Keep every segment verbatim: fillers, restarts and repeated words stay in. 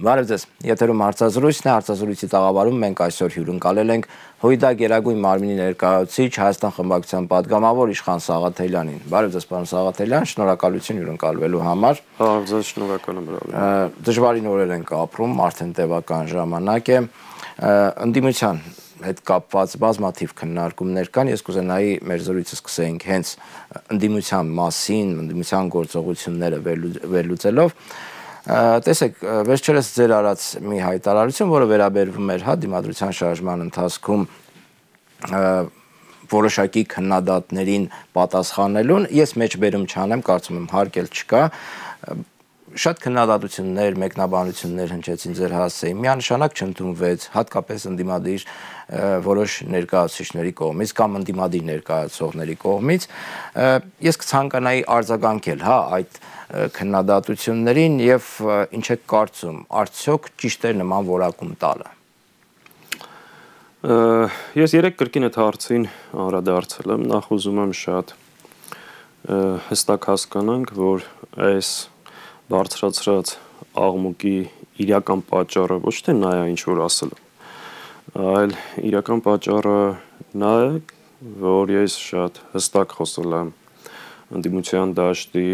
Բարև ձեզ, եթերում հարցազրույցն է, հարցազրույցի տաղավարում մենք այսօր հյուրընկալել ենք Հույդա Գերագույն մարմնի ներկայացուցիչ Հայաստան խմբակցության падգամավոր Իշխան Սաղաթելյանին։ Բարև ձեզ, պարոն Սաղաթելյան, շնորհակալություն հյուրընկալվելու համար։ Բարև ձեզ, շնորհակալ եմ հրավերին։ Դժվարին օրեր ենք ապրում, արդեն տևական ժամանակ է։ Ընդդիմության հետ կապված բազմաթիվ քննարկումներ կան, ես կուզենայի մեր զրույցը սկսենք հենց ընդդիմության մասին, ընդդիմության գործողությունները վերլուծելով։ Տեսեք, վերջերս ձեր արած մի հայտարարություն, որը վերաբերվում էր հա դիմադրության շարժման ընթացքում որոշակի քննադատներին պատասխանելուն, ես մեջբերում չանեմ, կարծում եմ հարկ էլ չկա, շատ քննադատություններ, մեկնաբանություններ հնչեցին ձեր հասցեին, միանշանակ չընդունվեց, հատկապես ընդդիմադիր որոշ ներկայացուցիչների կողմից կամ ընդդիմադիր ներկայացուցողների կողմից, ես կցանկանայի արձագանքել, հա, այդ քննադատություններին եւ ինչ եք կարծում, արդյոք ճիշտ է նման որակում տալը։ Ես երեք կրկին այդ հարցին անդրադարձել եմ, նախ ուզում եմ շատ հստակ հասկանանք, որ այս բարձրացրած աղմուկի իրական պատճառը ոչ թե նա է, ինչ որ ասել եմ, այլ իրական պատճառը նա է, որ ես շատ հստակ խոսել եմ ընդդիմության դաշտի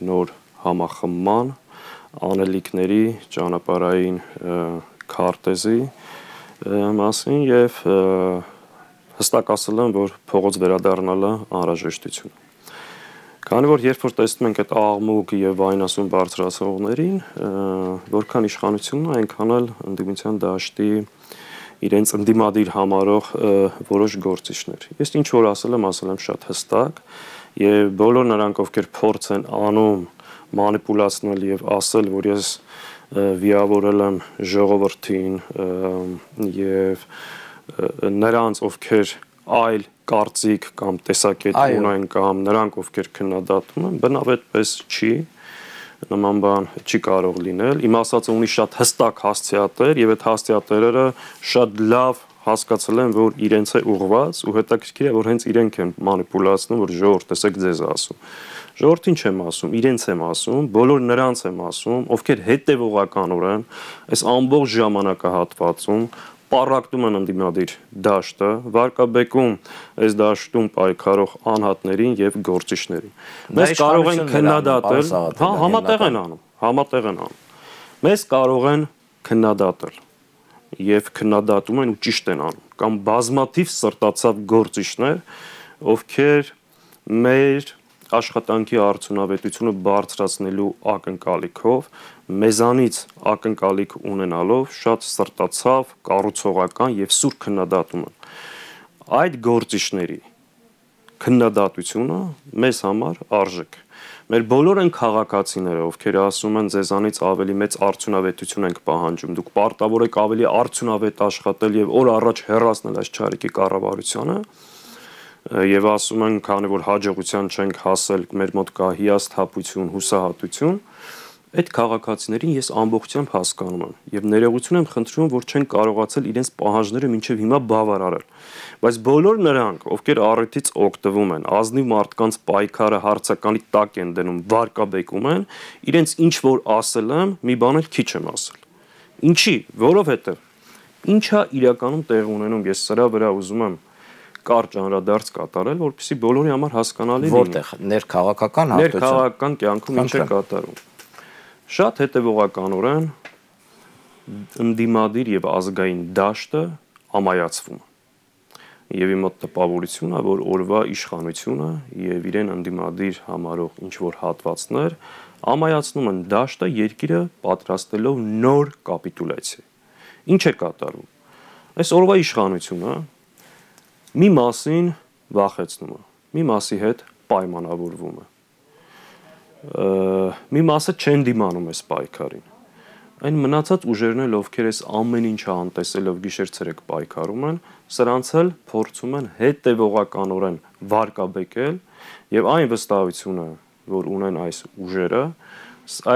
նոր համախմբման, անելիքների, ճանապարհային քարտեզի մասին եւ հստակ ասել եմ, որ փողոց վերադառնալը անհրաժեշտություն է։ Քանի որ երբ որ տեսնում ենք այդ աղմուկ եւ վայնասուն բարձրացողներին, որքան իշխանությունն է, այնքան էլ ընդդիմության դաշտի իրենց ընդդիմադիր համարող որոշ գործիչներ։ Ես ինչ որ ասել եմ, ասել եմ շատ հստակ եւ բոլոր նրանք, ովքեր փորձ են անում մանիպուլացնել եւ ասել, որ ես վիավորել եմ ժողովրդին եւ նրանց, ովքեր այլ կարծիք կամ տեսակետ ունեն կամ նրանք, ովքեր քննադատում են, բնավ այդպես չի, նման բան չի կարող լինել։ Իմ ասածը ունի շատ հստակ հասցեատեր եւ այդ հասցեատերերը շատ լավ հասկացել են, որ իրենց է ուղված ու հետաքրքիր է, որ հենց իրենք են մանիպուլացնում, որ ժողովուրդ տեսեք ձեզ ասում։ Ժողովրդին չեմ ասում, իրենց եմ ասում, բոլոր նրանց եմ ասում, ովքեր հետևողականորեն այս ամբողջ ժամանակահատվածում պառակտում են ընդդիմադիր դաշտը, վարկաբեկում այս դաշտում պայքարող անհատներին եւ գործիչներին։ Մենք կարող ենք քննադատել, հա, համատեղ են անում, համատեղ են անում։ Մենք կարող են քննադատել եւ քննադատում են ու ճիշտ են անում, կամ բազմաթիվ սրտացավ գործիչներ, ովքեր մեր աշխատանքի արդյունավետությունը բարձրացնելու ակնկալիքով, մեզանից ակնկալիք ունենալով շատ սրտացավ, կառուցողական եւ սուր քննադատում են։ Այդ գործիչների քննադատությունը մեզ համար արժեք։ Մեր բոլոր այն քաղաքացիները, ովքեր ասում են ձեզանից ավելի մեծ արդյունավետություն ենք պահանջում, դուք պարտավոր եք ավելի արդյունավետ աշխատել եւ օր առաջ հեռացնել այս չարիքի կառավարությանը, եւ ասում են, քանի որ հաջողության չենք հասել, մեր մոտ կա հիասթափություն, հուսահատություն, այդ քաղաքացիներին ես ամբողջությամբ հասկանում եմ եւ ներողություն եմ խնդրում, որ չեն կարողացել իրենց պահանջները մինչեւ հիմա բավարարել։ Բայց բոլոր նրանք, ովքեր առիթից օգտվում են, ազնիվ մարդկանց պայքարը հարցականի տակ են դնում, վարկաբեկում են, իրենց ինչ որ ասել եմ, մի բան էլ քիչ եմ ասել։ Ինչի, որովհետեւ ինչա իրականում տեղ ունենում, ես սրա վրա ուզում եմ կարճ անդրադարձ կատարել, որպեսզի բոլորի համար հասկանալի լինի։ Որտեղ ներքաղաքական հատուցում, ներքաղաքական կյանքում ինչ է կատարում։ Շատ հետևողականորեն ընդդիմադիր եւ ազգային դաշտը ամայացվում է։ Եվ իմ մոտ տպավորությունն է, որ օրվա իշխանությունը եւ իրեն ընդդիմադիր համարող ինչ որ հատվածներ ամայացնում են դաշտը երկիրը պատրաստելով նոր կապիտուլյացիա։ Ինչ է կատարում։ Այս օրվա իշխանությունը մի մասին վախեցնում է, մի մասի հետ պայմանավորվում է, մի մասը չեն դիմանում այս պայքարին, այն մնացած ուժերն էլ, ովքեր այս ամեն ինչը անտեսելով գիշեր-ցերեկ պայքարում են, սրանց էլ փորձում են հետևողականորեն վարկաբեկել եւ այն վստահությունը, որ ունեն այս ուժերը,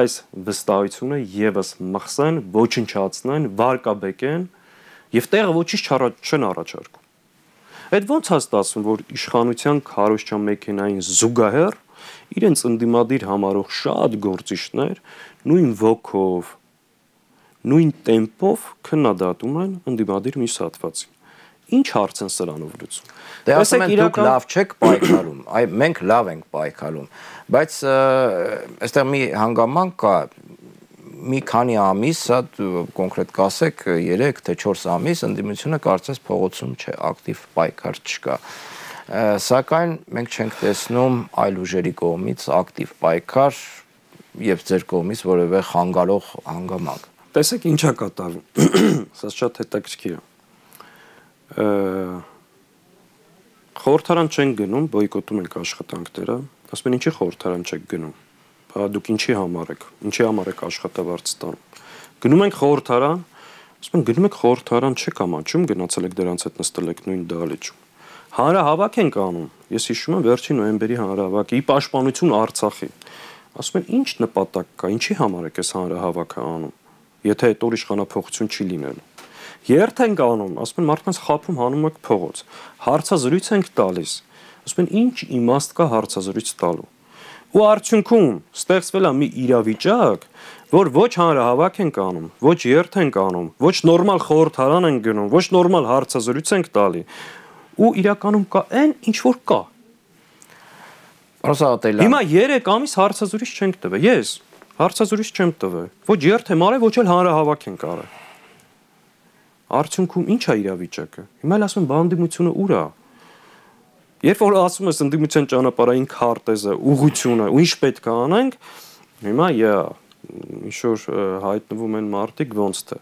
այս վստահությունը եւս մխսեն, ոչնչացնեն, վարկաբեկեն եւ տեղը ոչինչ չեն առաջարկում։ Այդ ոնց է ստացվում, որ իշխանության քարոզչական մեքենային զուգահեռ իրենց ընդդիմադիր համարող շատ գործիչներ նույն ոգով, նույն տեմպով քննադատում են ընդդիմադիր մյուս հատվածին։ Ինչ հարց են սրանով լուծում։ Դե ասում են դուք լավ չեք պայքարում, այ մենք լավ ենք պայքարում, բայց այստեղ մի հանգամանք կա, մի քանի ամիս, սա կոնկրետ կասեք երեք թե չորս ամիս ընդդիմությունը կարծես փողոցում չէ, ակտիվ պայքար չկա։ Սակայն մենք չենք տեսնում այլ ուժերի կողմից ակտիվ պայքար եւ ձեր կողմից որևէ խանգարող հանգամանք։ Տեսեք ինչա կատարվում։ Սա շատ հետաքրքիր է։ Խորհրդարան չեն գնում, բոյկոտում ենք աշխատանքները, ասում են ինչի խորհրդարան չեք գնում։ Բա դուք ինչի համար եք, ինչի համար եք աշխատավարձ ստանում։ Գնում ենք խորհրդարան, ասում են գնում եք խորհրդարան չեք ամաչում, գնացել եք դրանց հետ նստել եք նույն դահլիճում։ Հանրահավաք ենք անում։ Ես հիշում եմ վերջին նոյեմբերի հանրահավաքի ի պաշտպանություն Արցախի։ Ասում են ինչ նպատակ կա, ինչի համար եք այս հանրահավաքը անում, եթե այդ օր իշխանափոխություն չի լինելու։ Երթ ենք անում, ասում են մարդկանց խափում հանում եք փողոց։ Հարցազրույց ենք տալիս։ Ասում են ինչ իմաստ կա հարցազրույց տալու։ Ու արդյունքում ստեղծվել է մի իրավիճակ, որ ոչ հանրահավաք ենք անում, ոչ երթ ենք անում, ոչ նորմալ խորհրդարան ենք գնում, ոչ նորմալ հարցազրույց ենք տալի։ Ու իրականում կա այն, ինչ որ կա։ Հիմա երեք ամիս հարցազրույց չենք տվել։ Ես հարցազրույց չեմ տվել։ Ոչ երթ եմ արել, ոչ էլ հանրահավաք ենք արել։ Արդյունքում ի՞նչ է իրավիճակը։ Հիմա էլ ասում են բանդիմությունը ուր է։ Երբ որ ասում ես ընդդիմության ճանապարհային քարտեզը, ուղղությունը, ու ինչ պետք է անենք, հիմա յա ինչ որ հայտնվում են մարդիկ ոնց թե։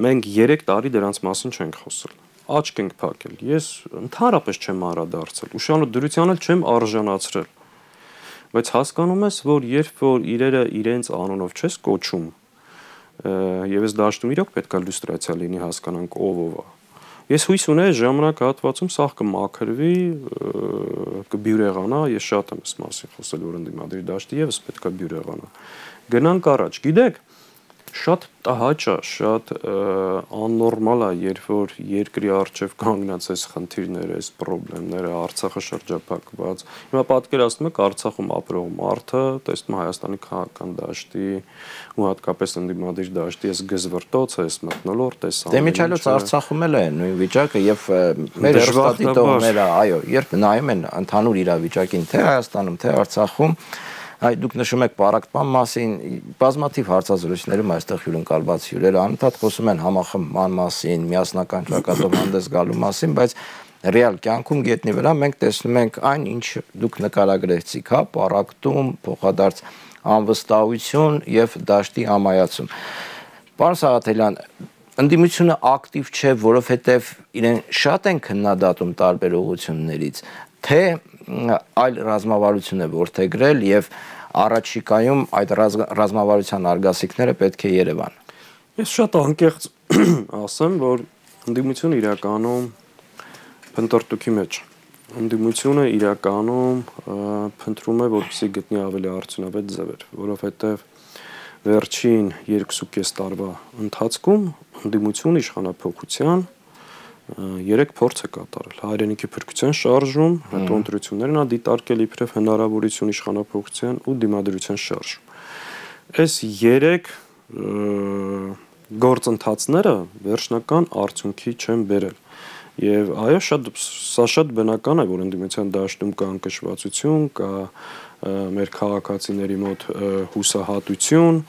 Մենք երեք տարի դրանց մասին չենք խոսել։ Աչք ենք փակել։ Ես ընդհանրապես չեմ անդրադարձել, ուշադրության էլ չեմ արժանացրել։ Բայց հասկանում ես, որ երբ որ իրերը իրենց անունով չես կոչում, եւ այս դաշտում իրոք պետք է լյուստրացիա լինի, հասկանանք ով ով է։ Ես հույս ունեի ժամանակ հատվածում սա կմաքրվի, կբյուրեղանա, ես շատ եմ այս մասին խոսել, որ ընդդիմադիր դաշտի եւս պետք է բյուրեղանա։ Գնանք առաջ, գիտեք, շատ տհաճ է, շատ աննորմալ է, երբ որ երկրի առջև կանգնած այս խնդիրները, այս խնդիրները, Արցախը շրջափակված։ Հիմա պատկերացնում եք Արցախում ապրող մարդը, տեսնում Հայաստանի քաղաքական դաշտի ու հատկապես ընդդիմադիր դաշտի այս գզվռտոցը, այս մթնոլորտ, այս ամենը։ Դե միջալոց Արցախում էլ է նույն վիճակը եւ մեր հեռուստադիտողները, այո, երբ նայում են ընդհանուր իրավիճակին, թե Հայաստանում, թե Արցախում, Այ դուք նշում եք պարակտման մասին, բազմաթիվ հարցազրույցներում այստեղ հյուրընկալված հյուրերը անընդհատ խոսում են համախմբման մասին, միասնական ճակատով հանդես գալու մասին, բայց ռեալ կյանքում գետնի վրա մենք տեսնում ենք այն, ինչ դուք նկարագրեցիք, հա, պարակտում, փոխադարձ անվստահություն եւ դաշտի ամայացում։ Պարոն Սաղաթելյան, ընդդիմությունը ակտիվ չէ, որովհետեւ իրեն շատ են քննադատում տարբեր ուղղություններից, թե այլ ռազմավարություն է որդեգրել եւ առաջիկայում այդ ռազմավարության արգասիքները պետք է Երևան։ Ես շատ անկեղծ ասեմ, որ ընդդիմությունը իրականում փնտրտուքի մեջ։ Ընդդիմությունը իրականում փնտրում է, որպեսզի գտնի ավելի արդյունավետ ձևեր, որովհետեւ վերջին երկուսուկես տարվա ընթացքում ընդդիմությունը իշխանափոխության երեք փորձ է կատարել հայրենիքի փրկության շարժում, հետո ընտրություններն ա դիտարկել իբրև հնարավորություն իշխանափոխության ու դիմադրության շարժում։ Այս երեք գործընթացները վերջնական արդյունքի չեն բերել։ Եվ այո, շատ սա շատ բնական է, որ ընդդիմության դաշտում կա անկշռվածություն, կա մեր քաղաքացիների մոտ հուսահատություն,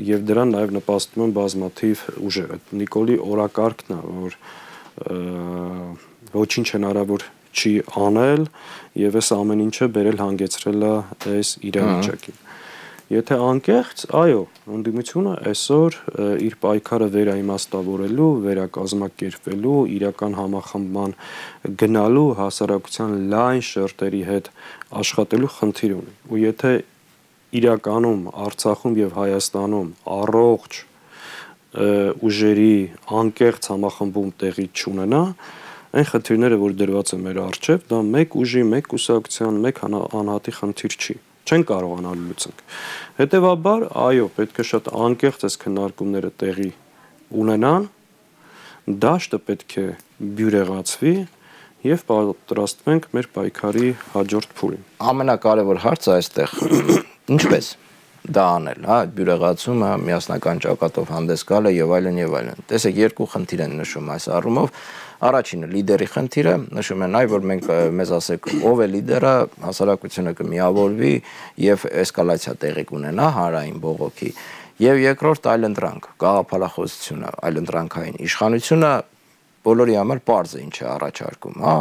եւ դրան նաեւ նպաստում են բազմաթիվ ուժեր։ Նիկոլի օրակարգն է, որ ոչինչ հնարավոր չի անել եւ այս ամեն ինչը բերել հանգեցրել է այս իրավիճակին։ Եթե անկեղծ, այո, ընդդիմությունը այսօր իր պայքարը վերաիմաստավորելու, վերակազմակերպվելու, իրական համախմբման գնալու, հասարակության լայն շերտերի հետ աշխատելու խնդիր ունի։ Ու եթե իրականում Արցախում եւ Հայաստանում առողջ ուժերի անկեղծ համախմբում տեղի չունենա, այն խնդիրները, որ դրված են մեր առջև, դա մեկ ուժի, մեկ կուսակցության, մեկ անհատի խնդիր չի։ Չեն կարողանալ լուծենք։ Հետևաբար, այո, պետք է շատ անկեղծ այս քննարկումները տեղի ունենան, դաշտը պետք է բյուրեղացվի եւ պատրաստվենք մեր պայքարի հաջորդ փուլին։ Ամենակարևոր հարցը այստեղ ինչպես դա անել, հա, այդ բյուրեղացումը, միասնական ճակատով հանդես գալը եւ այլն եւ այլն։ Տեսեք, երկու խնդիր են նշում այս առումով։ Առաջինը լիդերի խնդիրը, նշում են այ որ մենք մեզ ասեք ով է լիդերը, հասարակությունը կմիավորվի եւ էսկալացիա տեղի կունենա հանրային բողոքի։ Եվ երկրորդ այլընտրանք, գաղափարախոսությունը, այլընտրանքային իշխանությունը բոլորի համար պարզ է ինչ է առաջարկում, հա,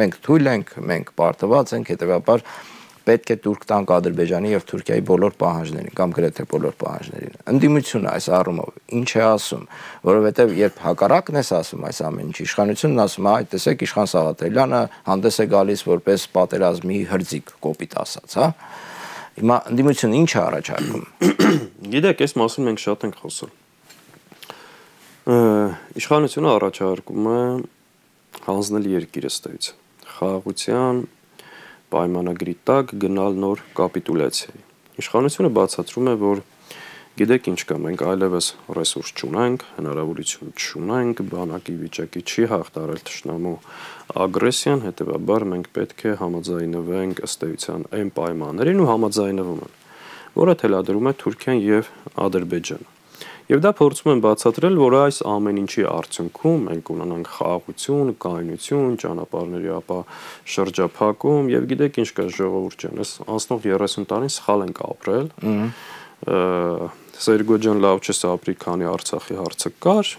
մենք թույլ ենք, մենք պարտված ենք, հետեւաբար պետք է թուրք տանք Ադրբեջանի եւ Թուրքիայի բոլոր պահանջներին կամ գրեթե բոլոր պահանջներին։ Ընդդիմությունը այս առումով ինչ է ասում, որովհետեւ երբ հակառակն ես ասում այս ամեն ինչ, իշխանությունն ասում է, այ տեսեք իշխան Սաղաթելյանը հանդես է գալիս որպես պատերազմի հրձիկ, կոպիտ ասած, հա։ Հիմա ընդդիմությունը ինչ է առաջարկում։ Գիտեք, այս մասին մենք շատ ենք խոսել։ Իշխանությունը առաջարկում է հանձնել երկիրը ստեյց։ Խաղաղության պայմանագրի տակ գնալ նոր կապիտուլյացիայի։ Իշխանությունը բացատրում է, որ գիտեք ինչ կա, մենք այլևս ռեսուրս չունենք, հնարավորություն չունենք, բանակի վիճակի չի հաղթարել թշնամու ագրեսիան, հետևաբար մենք պետք է համաձայնվենք ըստ էության այն պայմաններին ու համաձայնվում են, որը թելադրում է Թուրքիան եւ Ադրբեջանը։ Եվ դա փորձում են բացատրել, որ այս ամեն ինչի արդյունքում մենք ունենանք խաղաղություն, կայունություն, ճանապարհների ապա շրջափակում եւ գիտեք ինչ կա ժողովուրդ ջան, այս անցնող երեսուն տարին սխալ ենք ապրել։ Սերգոջան լավ չէ ապրի, քանի Արցախի հարցը կար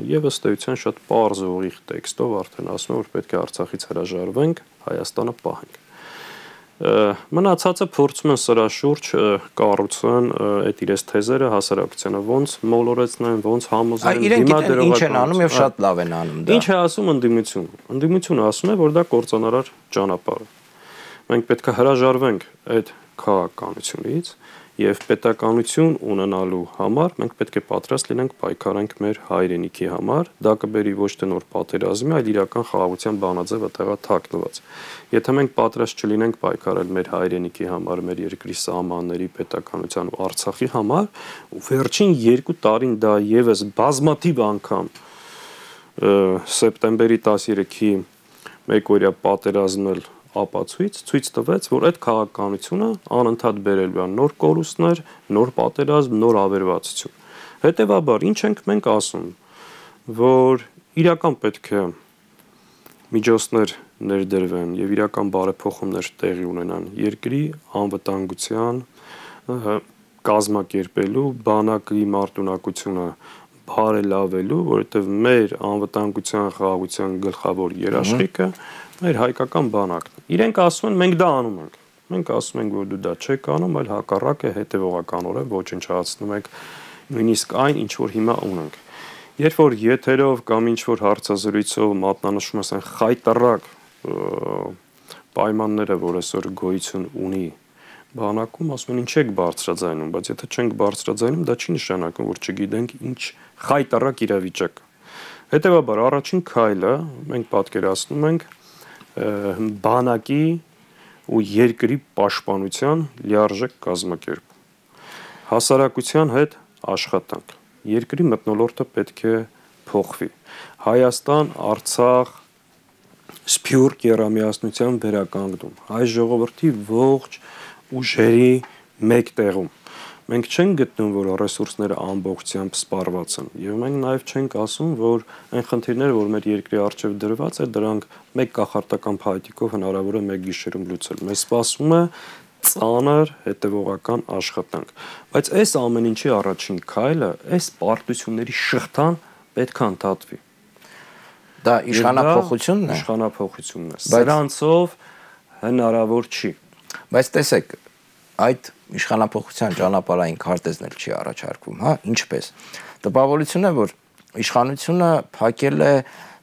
եւ ըստ էության շատ պարզ ու ուղիղ տեքստով արդեն ասում է, որ պետք է Արցախից հրաժարվենք, Հայաստանը պահենք։ Մնացածը փորձում են սրա շուրջ կառուցեն այդ իրենց թեզերը հասարակությանը ոնց մոլորեցնեն, ոնց համոզեն, դիմա դերողական։ Ինչ են անում եւ շատ լավ են անում դա։ Ինչ է ասում ընդդիմությունը։ Ընդդիմությունը ասում է, որ դա կործանարար ճանապարհ է։ Մենք պետք է հրաժարվենք այդ քաղաքականությունից եւ պետականություն ունենալու համար մենք պետք է պատրաստ լինենք պայքարենք մեր հայրենիքի համար, դա կբերի ոչ թե նոր պատերազմի, այլ իրական խաղաղության բանաձևը տեղա թաքնված։ Եթե մենք պատրաստ չլինենք պայքարել մեր հայրենիքի համար, մեր երկրի սահմանների, պետականության ու Արցախի համար, ու վերջին երկու տարին դա եւս բազմաթիվ անգամ սեպտեմբերի տասներեքի մեկօրյա պատերազմն էլ ապացույց ցույց տվեց, որ այդ քաղաքականությունը անընդհատ բերելու է նոր կորուստներ, նոր պատերազմ, նոր ավերվածություն։ Հետևաբար ինչ ենք մենք ասում, որ իրական պետք է միջոցներ ներդրվեն եւ իրական բարեփոխումներ տեղի ունենան երկրի անվտանգության կազմակերպելու, բանակի մարտունակությունը բարելավելու, որովհետեւ մեր անվտանգության խաղաղության գլխավոր երաշխիքը մեր հայկական բանակն է։ Իրենք ասում են մենք դա անում ենք։ Մենք ասում ենք, որ դու դա չեք անում, այլ հակառակը հետևողականորեն ոչնչացնում եք նույնիսկ այն, ինչ որ հիմա ունենք։ Երբ որ եթերով կամ ինչ որ հարցազրույցով մատնանշում ես այն խայտարակ պայմանները, որ այսօր գոյություն ունի բանակում, ասում են ինչ եք բարձրաձայնում, բայց եթե չենք բարձրաձայնում, դա չի նշանակում, որ չգիտենք ինչ խայտարակ իրավիճակ։ Հետևաբար առաջին քայլը մենք պատկերացնում ենք բանակի ու երկրի պաշտպանության լիարժեք կազմակերպում։ Հասարակության հետ աշխատանք։ Երկրի մթնոլորտը պետք է փոխվի։ Հայաստան, Արցախ, Սփյուռք երամիասնության վերականգնում։ Հայ ժողովրդի ողջ ուժերի մեկ տեղում։ Մենք չենք գտնում, որ ռեսուրսները ամբողջությամբ սպառված են, եւ մենք նաեւ չենք ասում, որ այն խնդիրները, որ մեր երկրի առջեւ դրված է, դրանք մեկ կախարտական փայտիկով հնարավոր է մեկ գիշերում լուծել։ Մեզ սպասում է ծանր հետևողական աշխատանք։ Բայց այս ամեն ինչի առաջին քայլը այս պարտությունների շղթան պետք է ընդհատվի։ Դա իշխանափոխությունն է։ Իշխանափոխությունն է։ Սրանցով հնարավոր չի։ Բայց տեսեք, այդ իշխանափոխության ճանապարհային քարտեզն էլ չի առաջարկվում, հա, ինչպես։ Տպավորություն է, որ իշխանությունը փակել է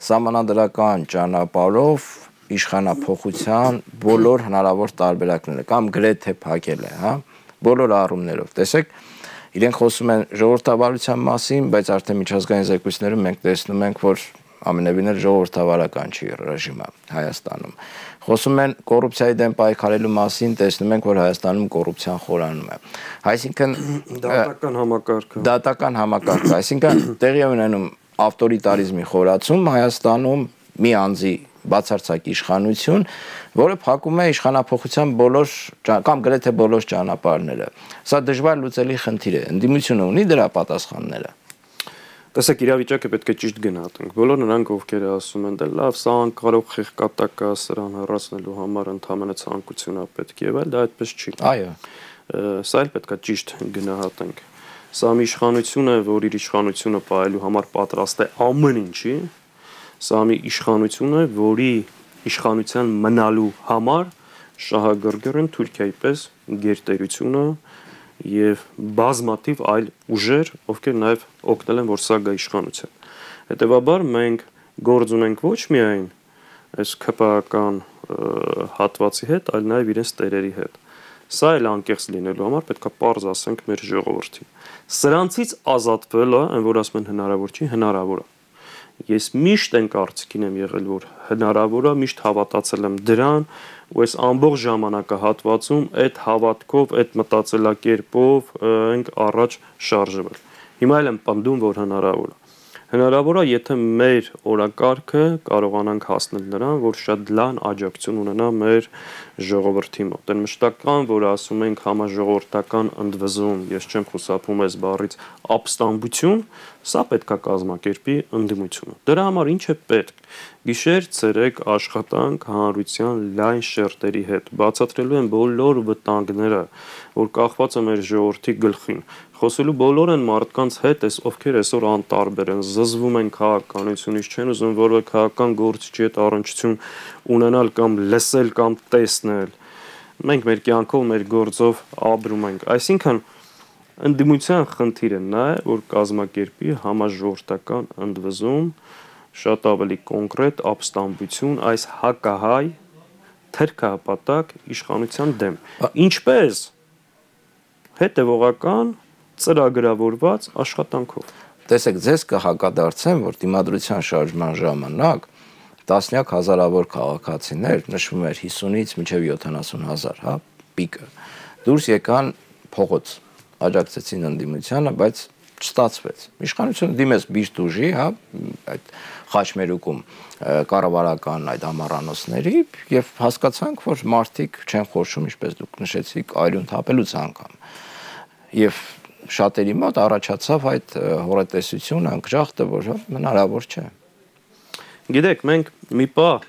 սահմանադրական ճանապարհով իշխանափոխության բոլոր հնարավոր տարբերակները կամ գրեթե փակել է, հա, բոլոր առումներով։ Տեսեք, իրենք խոսում են ժողովրդավարության մասին, բայց արդեն միջազգային զեկույցներում մենք տեսնում ենք, որ ամենևին էլ ժողովրդավարական չի ռեժիմը Հայաստանում։ Խոսում են կոռուպցիայի դեմ պայքարելու մասին, տեսնում ենք, որ Հայաստանում կոռուպցիան խորանում է։ Այսինքն դատական համակարգը, դատական համակարգը, այսինքն տեղի ունենում ավտորիտարիզմի խորացում Հայաստանում մի անձի բացարձակ իշխանություն, որը փակում է իշխանափոխության բոլոր կամ գրեթե բոլոր ճանապարհները։ Սա դժվար լուծելի խնդիր է։ Ընդդիմությունը ունի դրա պատասխանները։ Տեսեք, իրավիճակը պետք է ճիշտ գնահատենք։ Բոլոր նրանք, ովքեր ասում են, դե լավ, սա անկարող խեղկատակ է, սրան հեռացնելու համար ընդհանրապես ցանկություն է պետք եւ այլ, դա այդպես չի։ Այո։ Սա էլ պետք է ճիշտ գնահատենք։ Սա մի իշխանություն է, որ իր իշխանությունը պահելու համար պատրաստ է ամեն ինչի։ Սա մի իշխանություն է, որի իշխանության մնալու համար շահագրգիռ են Թուրքիայի պես գերտերությունը եւ բազմաթիվ այլ ուժեր, ովքեր նաեւ օգնել են, որ սա գա իշխանության։ Հետևաբար մենք գործ ունենք ոչ միայն այս քպական հատվածի հետ, այլ նաեւ իրենց տերերի հետ։ Սա էլ անկեղծ լինելու համար պետք է պարզ ասենք մեր ժողովրդին։ Սրանցից ազատվելը, այն որ ասում են հնարավոր չի, հնարավոր է։ Ես միշտ այն կարծիքին եմ եղել, որ հնարավոր է, միշտ հավատացել եմ դրան, ու այս ամբողջ ժամանակահատվածում այդ հավատքով, այդ մտածելակերպով ենք առաջ շարժվել։ Հիմա էլ եմ պնդում, որ հնարավոր է։ Հնարավոր է, եթե մեր օրակարգը կարողանանք հասնել նրան, որ շատ լայն աջակցություն ունենա մեր ժողովրդի մոտ։ Այն մշտական, որ ասում ենք համաժողովրդական ընդվզում, ես չեմ խուսափում այս բառից, ապստամբություն, սա պետք է կազմակերպի ընդդիմությունը։ Դրա համար ինչ է պետք։ Գիշեր ցերեկ աշխատանք հանրության լայն շերտերի հետ, բացատրելու են բոլոր վտանգները, որ կախված է մեր ժողովրդի գլխին։ Խոսելու բոլոր են մարդկանց հետ, ովքեր այսօր անտարբեր են, զզվում են քաղաքականությունից, չեն ուզում որևէ քաղաքական գործիչի հետ առնչություն ունենալ կամ լսել կամ տեսնել։ Մենք մեր կյանքով, մեր գործով ապրում ենք։ Այսինքն ընդդիմության խնդիրը նա է, որ կազմակերպի համաժողովրդական ընդվզում, շատ ավելի կոնկրետ ապստամբություն այս հակահայ թերքահպատակ իշխանության դեմ։ Ինչպես հետևողական ծրագրավորված աշխատանքով։ Տեսեք, ձեզ կհակադարձեմ, որ դիմադրության շարժման ժամանակ տասնյակ հազարավոր քաղաքացիներ, նշվում էր հիսունից մինչև յոթանասուն հազար, հա, պիկը, դուրս եկան փողոց, աջակցեցին ընդդիմությանը, բայց չստացվեց։ Իշխանությունը դիմեց բիշտ ուժի, հա, այդ խաչմերուկում կառավարական այդ ամառանոցների եւ հասկացանք, որ մարդիկ չեն խոշում, ինչպես դուք նշեցիք, այլուն թափելուց անգամ։ Եվ շատերի մոտ առաջացավ այդ հորատեսություն, անկժախտը, որ հնարավոր չէ։ Գիտեք, մենք մի պահ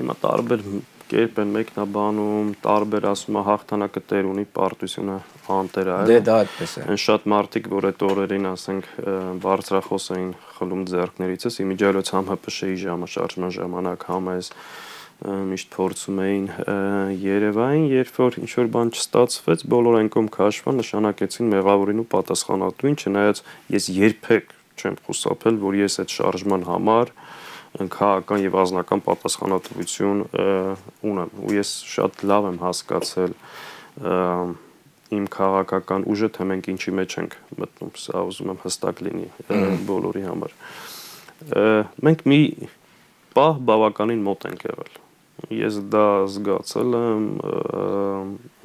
հիմա տարբեր կերպ են մեկնաբանում, տարբեր ասում է հաղթանակը տեր ունի, պարտությունը անտեր է։ Դե դա այդպես է։ Այն շատ մարդիկ, որ այդ օրերին, ասենք, բարձրախոս էին խլում ձեռքներիցս, իմիջիայլոց համ ՀՊՇ-ի ժամաշարժման ժամանակ համ այս միշտ փորձում էին Երևանին, երբ որ ինչ որ բան չստացվեց, բոլոր անկում քաշվան նշանակեցին մեղավորին ու պատասխանատուին, չնայած ես երբեք չեմ խուսափել, որ ես այդ շարժման համար քաղաքական եւ անձնական պատասխանատվություն ունեմ, ու ես շատ լավ եմ հասկացել իմ քաղաքական ուժը, թե մենք ինչի մեջ ենք մտնում, սա ուզում եմ հստակ լինի բոլորի համար։ Մենք մի պահ բավականին մոտ ենք եղել։ Ես դա զգացել եմ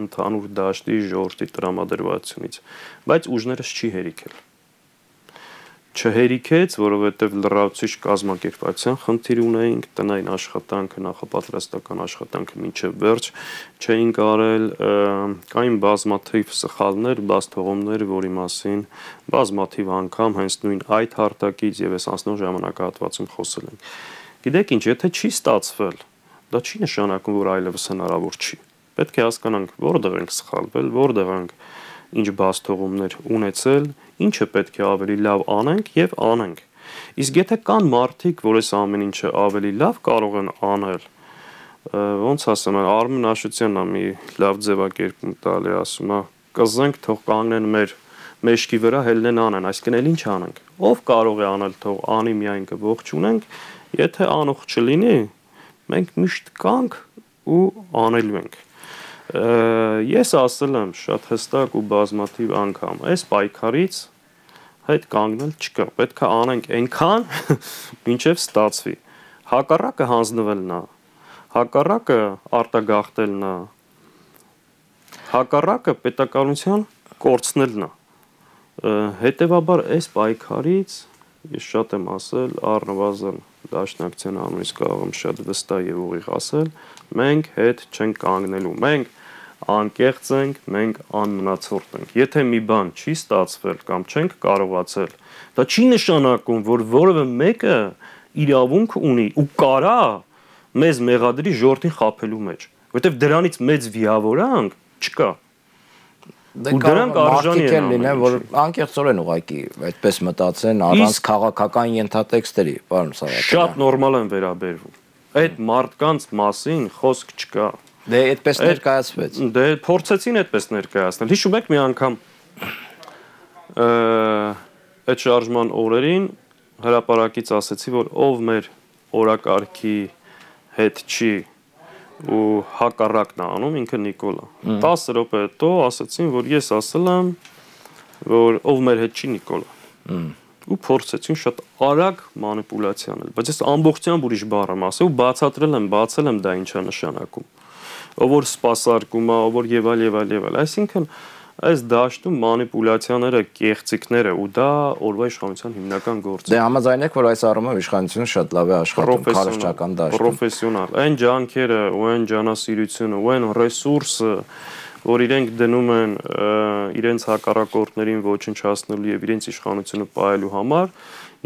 ընդհանուր դաշտի ժողովրդի տրամադրվածությունից, բայց ուժներս չի հերիքել։ Չհերիքեց, որովհետև լրացուցիչ կազմակերպվածության խնդիր ունեինք, տնային աշխատանքը, նախապատրաստական աշխատանքը մինչև վերջ չէինք արել, կային բազմաթիվ սխալներ, բացթողումներ, որի մասին բազմաթիվ անգամ հենց նույն այդ հարթակից եւ այս անցնող ժամանակահատվածում խոսել ենք։ Գիտեք ինչ, եթե չի ստացվել, դա չի նշանակում, որ այլևս հնարավոր չի։ Պետք է հասկանանք, որտեղ ենք սխալվել, որտեղ ենք ինչ բացթողումներ ունեցել, ինչը պետք է ավելի լավ անենք եւ անենք։ Իսկ եթե կան մարդիկ, որ այս ամեն ինչը ավելի լավ կարող են անել, ոնց ասեմ, Արմեն Աշոտյանն է մի լավ ձևակերպում տալի, ասում է, կզենք թող կանգնեն մեր մեջքի վրա, հելնեն անեն, այսինքն էլ ինչ անենք։ Ով կարող է անել, թող անի, միայն կողջունենք, եթե անող չլինի, մենք միշտ կանք ու անելու ենք։ Ես ասել եմ շատ հստակ ու բազմաթիվ անգամ, այս պայքարից հետ կանգնել չկա, պետք է անենք այնքան, մինչև ստացվի։ Հակառակը հանձնվելն է, հակառակը արտագաղթելն է, հակառակը պետականության կորցնելն է։ Հետևաբար այս պայքարից ես շատ եմ ասել, առնվազն Դաշնակցության անունից կարող եմ շատ վստահ եւ ուղիղ ասել, մենք հետ չենք կանգնելու, մենք անկեղծ ենք, մենք անմնացորդ ենք։ Եթե մի բան չի ստացվել կամ չենք կարողացել, դա չի նշանակում, որ որևէ մեկը իրավունք ունի ու կարա մեզ մեղադրի ժողովրդին խաբելու մեջ, որովհետեւ դրանից մեծ վիավորանք չկա։ Ու դրանք արժանի են լինեն, որ անկեղծորեն ուղղակի այդպես մտածեն առանց քաղաքական ենթատեքստերի, պարոն Սարհատյան։ Շատ նորմալ են վերաբերվում։ Այդ մարդկանց մասին խոսք չկա։ Դե այդպես ներկայացվեց։ Դե փորձեցին այդպես ներկայացնել։ Հիշում եք մի անգամ այդ շարժման օրերին հրապարակից ասեցի, որ ով մեր օրակարգի հետ չի ու հակառակն է անում, ինքը Նիկոլա։ տասը րոպե հետո ասացին, որ ես ասել եմ, որ ով մեր հետ չի Նիկոլա։ Ու փորձեցին շատ արագ մանիպուլյացիա անել, բայց ես ամբողջությամբ ուրիշ բառ եմ ասել ու բացատրել եմ, բացել եմ դա ինչա նշանակում։ Ով որ սպասարկում է, ով որ եւ այլ եւ այլ եւ այլ, այսինքն այս դաշտում մանիպուլյացիաները, կեղծիքները ու դա օրվա իշխանության հիմնական գործը։ Դե համաձայն եք, որ այս առումով իշխանությունը շատ լավ է աշխատում քարոզչական դաշտում։ Պրոֆեսիոնալ, այն ջանքերը ու այն ջանասիրությունը ու այն ռեսուրսը, որ իրենք դնում են իրենց հակառակորդներին ոչնչացնելու եւ իրենց իշխանությունը պահելու համար,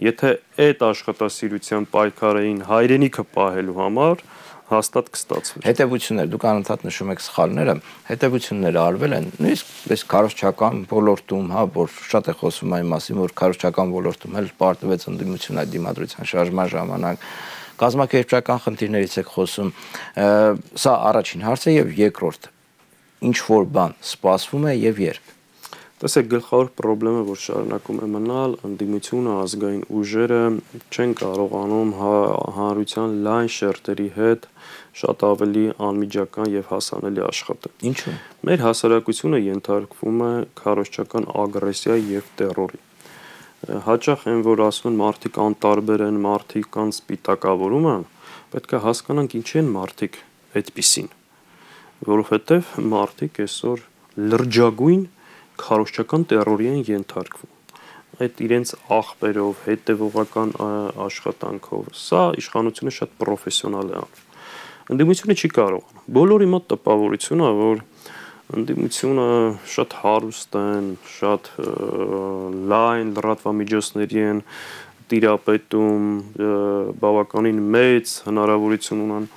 եթե այդ աշխատասիրության պայքարային հայրենիքը պահելու համար հաստատ կստացվի։ Հետևություններ, դուք անընդհատ նշում եք սխալները, հետևությունները արվել են նույնիսկ այս քարոզչական ոլորտում, հա, որ շատ է խոսվում այն մասին, որ քարոզչական ոլորտում էլ պարտվեց ընդդիմություն այդ դիմադրության շարժման ժամանակ, կազմակերպչական խնդիրներից եք խոսում։ Սա առաջին հարցը եւ երկրորդ, ինչ որ բան սպասվում է եւ երբ։ Տեսեք, գլխավոր խնդրը, որ շարունակում է մնալ, ընդդիմությունը, ազգային ուժերը չեն կարողանում հանրության լայն շերտերի հետ շատ ավելի անմիջական եւ հասանելի աշխատել։ Ինչու՞։ Մեր հասարակությունը ենթարկվում է քարոզչական ագրեսիայի եւ տերորի։ Հաճախ են, որ ասում են մարդիկ անտարբեր են, մարդիկ կան սպիտակավորում են, պետք է հասկանանք ինչի են մարդիկ այդպիսին, որովհետեւ մարդիկ այսօր լրջագույն քարոզչական տերորի են ենթարկվում։ Այդ իրենց աղբերով, հետևողական աշխատանքով, սա իշխանությունը շատ պրոֆեսիոնալ է անում։ Ընդդիմությունը չի կարողանում։ Բոլորի մոտ տպավորություն է, որ ընդդիմությունը շատ հարուստ են, շատ լայն լրատվամիջոցների են տիրապետում, բավականին մեծ հնարավորություն ունեն։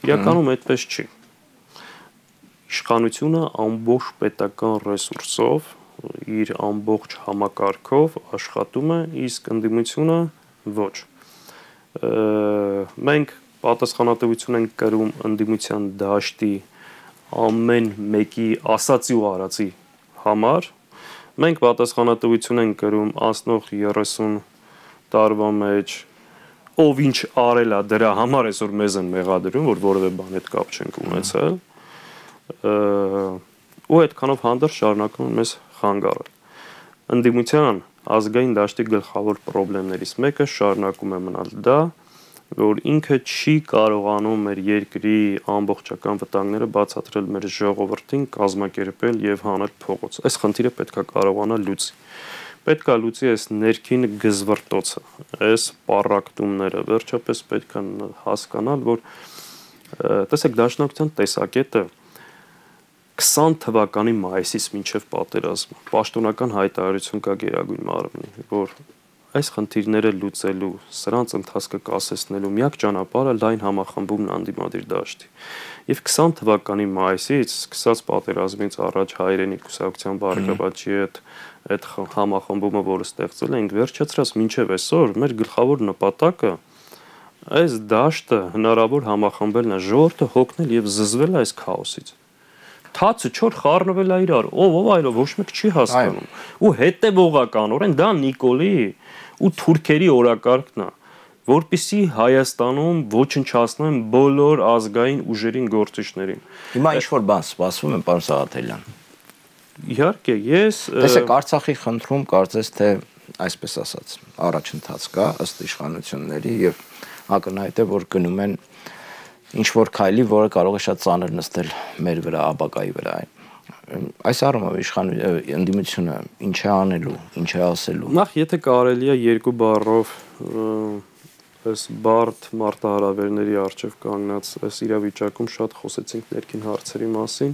Իրականում այդպես չի։ Իշխանությունը ամբողջ պետական ռեսուրսով, իր ամբողջ համակարգով աշխատում է, իսկ ընդդիմությունը ոչ։ Մենք պատասխանատվություն ենք կրում ընդդիմության դաշտի ամեն մեկի ասացի ու արածի համար, մենք պատասխանատվություն ենք կրում անցնող երեսուն տարվա մեջ, ով ինչ արել է դրա համար այսօր մեզ են մեղադրում, որ որևէ բան հետ կապ չենք ունեցել։ Ու այդքանով հանդերձ շարունակում են մեզ խանգարել։ Ընդդիմության ազգային դաշտի գլխավոր խնդիրներից մեկը շարունակում է մնալ դա, որ ինքը չի կարողանում մեր երկրի ամբողջական վտանգները բացատրել մեր ժողովրդին, կազմակերպել եւ հանել փողոց։ Այս խնդիրը պետք է կարողանա լուծի։ Պետք է լուծի այս ներքին գզվռտոցը, այս պառակտումները, վերջապես պետք է հասկանալ, որ տեսեք դաշնակցության տեսակետը քսան թվականի մայիսից մինչև պատերազմը պաշտոնական հայտարարություն կա Գերագույն մարմնի, որ այս խնդիրները լուծելու, սրանց ընթացքը կասեցնելու միակ ճանապարհը լայն համախմբումն անդիմադիր դաշտի։ Եվ քսան թվականի մայիսից սկսած պատերազմից առաջ հայրենի կուսակցության բարգավաճի հետ այդ համախմբումը, որը ստեղծել ենք, վերջացրած մինչև այսօր մեր գլխավոր նպատակը այս դաշտը հնարավոր համախմբելն է, ժողովուրդը հոգնել եւ զզվել այս քաոսից։ Թացը չոր խառնվել է իրար, ով ով այլով ոչ մեկ չի հասկանում։ Ու հետևողականորեն դա Նիկոլի ու թուրքերի օրակարգն է, որպեսզի Հայաստանում ոչնչացնեն բոլոր ազգային ուժերին գործիչներին։ Հիմա ինչ որ բան սպասվում է, պարոն Սաղաթելյան։ Իհարկե, ես Տեսեք, Արցախի խնդրում կարծես թե այսպես ասած, առաջընթաց կա ըստ իշխանությունների եւ ակնհայտ է, որ գնում են ինչ որ քայլի, որը կարող է շատ ծանր նստել մեր վրա, ապակայի վրա։ Այս առումով իշխան ընդդիմությունը ինչ է անելու, ինչ է ասելու։ Նախ եթե կարելի է երկու բառով այս բարդ մարտահրավերների առջև կանգնած այս իրավիճակում շատ խոսեցինք ներքին հարցերի մասին։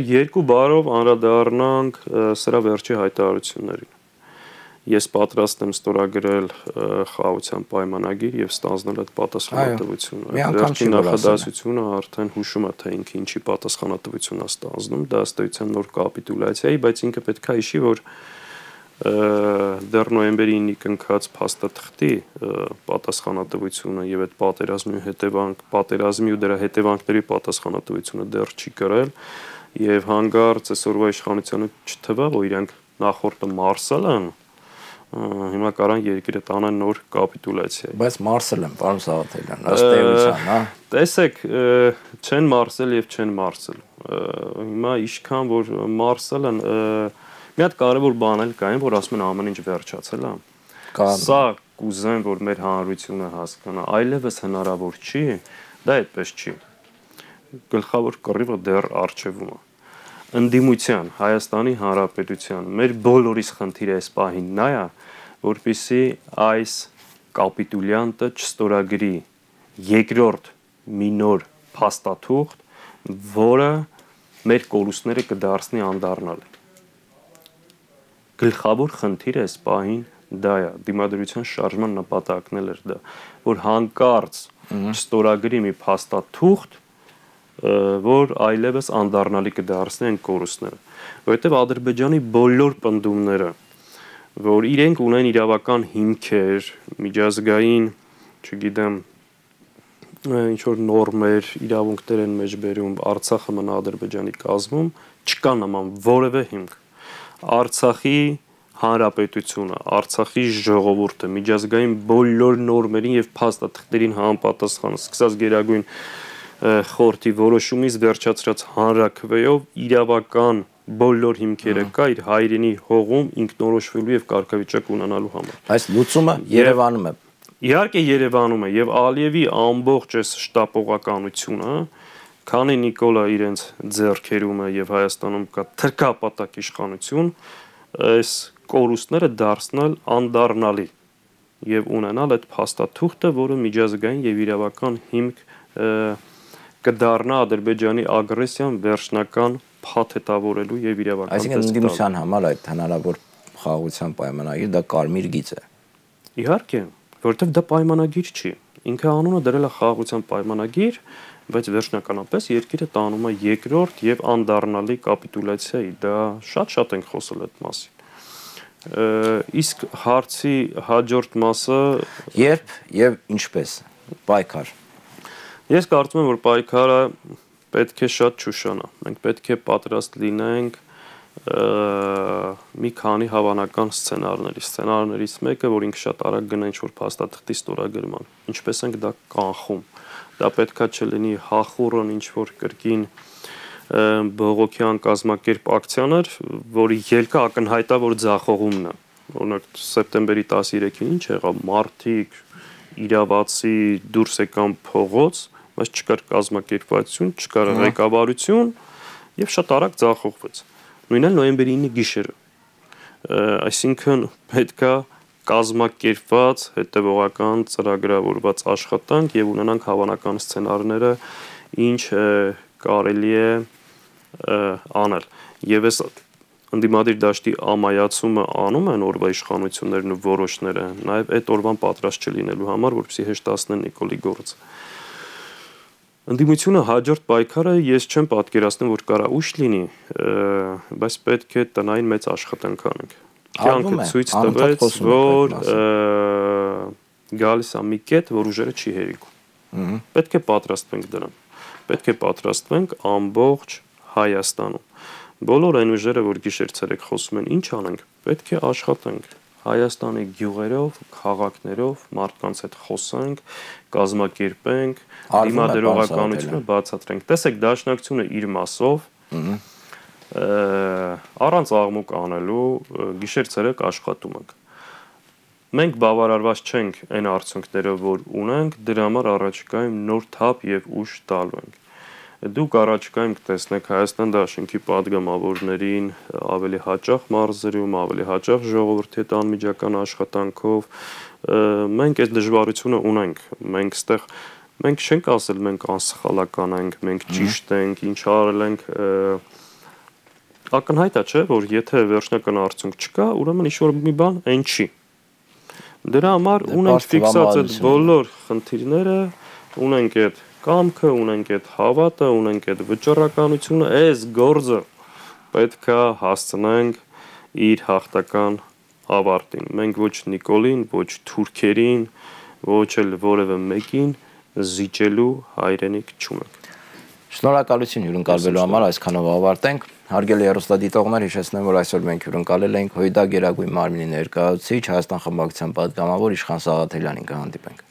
Երկու բառով անդրադառնանք սրա վերջի հայտարարություններին։ Ես պատրաստ եմ ստորագրել խաղաղության պայմանագիր եւ ստանձնել այդ պատասխանատվությունը։ Վերջին նախադասությունը արդեն հուշում է, թե ինքը ինչի պատասխանատվություն է ստանձնում, դա ըստ էության նոր կապիտուլյացիայի, բայց ինքը պետք է հիշի, որ դեռ նոյեմբերի ինը կնքած փաստաթղթի պատասխանատվությունը եւ այդ պատերազմի հետևանք, պատերազմի ու դրա հետևանքների պատասխանատվությունը դեռ չի կրել եւ հանգարց այսօրվա իշխանությունը չթվա, որ իրանք նախորդը մարսել են, հիմա կարան երկիրը տանեն նոր կապիտուլյացիա։ Բայց մարսել են, պարոն Սաղաթելյան, ըստ էության, հա։ Տեսեք, չեն մարսել եւ չեն մարսել։ Հիմա ինչքան որ մարսել են, մի հատ կարևոր բան էլ կա, որ ասում են ամեն ինչ վերջացել է։ Սա կուզեն, որ մեր հանրությունը հասկանա, այլևս հնարավոր չի, դա այդպես չի։ Գլխավոր կռիվը դեռ առջևում է։ Ընդդիմության, Հայաստանի Հանրապետության, մեր բոլորիս խնդիրը այս պահին նա է, որպեսզի այս կապիտուլյանտը չստորագրի երկրորդ մի նոր փաստաթուղթ, որը մեր կորուստները կդարձնի անդառնալ։ Գլխավոր խնդիրը այս պահին դա է, դիմադրության շարժման նպատակն էլ էր դա, որ հանկարծ չստորագրի մի փաստաթուղթ, որ այլևս անդառնալի կդարձնի այն կորուստները, որովհետև Ադրբեջանի բոլոր պնդումները, որ իրենք ունեն իրավական հիմքեր, միջազգային, չգիտեմ, ինչ որ նորմեր, իրավունքներ են մեջբերում, Արցախը մնա Ադրբեջանի կազմում, չկա նման որևէ հիմք։ Արցախի հանրապետությունը, Արցախի ժողովուրդը, միջազգային բոլոր նորմերին եւ փաստաթղթերին համապատասխան, սկսած Գերագույն խորհրդի որոշումից վերջացրած հանրաքվեով իրավական բոլոր հիմքերը կա իր հայրենի հողում ինքնորոշվելու եւ կարգավիճակ ունենալու համար։ Այս լուծումը Երևանում է։ Իհարկե Երևանում է եւ Ալիևի ամբողջ այս շտապողականությունը, քանի Նիկոլա իրենց ձեռքերում է եւ Հայաստանում կա թրքապատակ իշխանություն, այս կորուստները դարձնել անդառնալի եւ ունենալ այդ փաստաթուղթը, որը միջազգային եւ իրավական հիմք կդառնա Ադրբեջանի ագրեսիան վերջնական փաթեթավորելու եւ իրավական Այսինքն ընդդիմության համար այդ հնարավոր խաղաղության պայմանագիր դա կարմիր գիծ է։ Իհարկե, որովհետեւ դա պայմանագիր չի։ Ինքը անունը դրել է խաղաղության պայմանագիր, բայց վերջնականապես երկիրը տանում է երկրորդ եւ անդառնալի կապիտուլյացիայի։ Դա շատ-շատ ենք խոսել այդ մասին։ Իսկ հարցի հաջորդ մասը երբ եւ ինչպես պայքար։ Ես կարծում եմ, որ պայքարը պետք է շատ չուշանա։ Մենք պետք է պատրաստ լինենք մի քանի հավանական սցենարների։ Սցենարներից մեկը, որ ինքը շատ արագ գնա ինչ-որ փաստաթղթի ստորագրման։ Ինչպես ենք դա կանխում։ Դա պետքա չլինի հախուռն ինչ-որ կրկին բողոքյան կազմակերպ ակցիաներ, որի ելքը ակնհայտ է, որ ձախողումն է։ Օրինակ սեպտեմբերի տասներեքին ինչ եղավ, մարդիկ իրավացի դուրս եկան փողոց, բայց չկար կազմակերպվածություն, չկար ղեկավարություն եւ շատ արագ ձախողվեց։ Նույնն էլ նոյեմբերի ինը գիշերը։ Այսինքն պետքա կազմակերպված, հետևողական, ծրագրավորված աշխատանք եւ ունենանք հավանական սցենարները, ինչ կարելի է անել։ Եվ այս ընդդիմադիր դաշտի ամայացումը անում են օրվա իշխանություններն ու որոշները, նաեւ այդ օրվան պատրաստ չլինելու համար, որպեսզի հեշտացնեն Նիկոլի գործը։ Ընդդիմությունը հաջորդ պայքարը ես չեմ պատկերացնում, որ կարա ուշ լինի, բայց պետք է տնային մեծ աշխատանք անենք։ Կյանքը ցույց տվեց, որ գալիս է մի կետ, որ ուժերը չի հերիքում։ Պետք է պատրաստվենք դրան։ Պետք է պատրաստվենք ամբողջ Հայաստանում։ Բոլոր այն ուժերը, որ գիշեր-ցերեկ խոսում են, ինչ անենք, պետք է աշխատենք։ Հայաստանի գյուղերով, քաղաքներով մարդկանց հետ խոսենք, կազմակերպենք, դիմադրողականությունը բացատրենք։ Տեսեք, դաշնակցությունը իր մասով առանց աղմուկ անելու գիշեր-ցերեկ աշխատում ենք։ Մենք բավարարված չենք այն արդյունքներով, որ ունենք, դրա համար առաջիկայում նոր թափ եւ ուժ տալու ենք։ Դուք առաջկայում կտեսնեք Հայաստան դաշինքի падգամավորներին ավելի հաճախ մարզերում, ավելի հաճախ ժողովրդի հետ անմիջական աշխատանքով, մենք այս դժվարությունը ունենք, մենք ստեղ մենք չենք ասել մենք անսխալական ենք, մենք ճիշտ ենք, ինչ արել ենք, ակնհայտ է, չէ, որ եթե վերջնական արդյունք չկա, ուրեմն ինչ-որ մի բան այն չի։ Դրա համար ունենք ֆիքսած այդ բոլոր խնդիրները, ունենք այդ կամքը, ունենք այդ հավատը, ունենք այդ վճռականությունը, այս գործը պետք է հասցնենք իր հաղթական ավարտին։ Մենք ոչ Նիկոլին, ոչ թուրքերին, ոչ էլ որևէ մեկին զիջելու հայրենիք չունենք։ Շնորհակալություն հյուրընկալվելու համար, այսքանով ավարտենք։ Հարգելի հեռուստադիտողներ, հիշեցնեմ, որ այսօր մենք հյուրընկալել ենք ՀՅԴ Գերագույն մարմնի ներկայացուցիչ, Հայաստան խմբակցության պատգամավոր Իշխան Սաղաթելյանին, կհանդիպենք։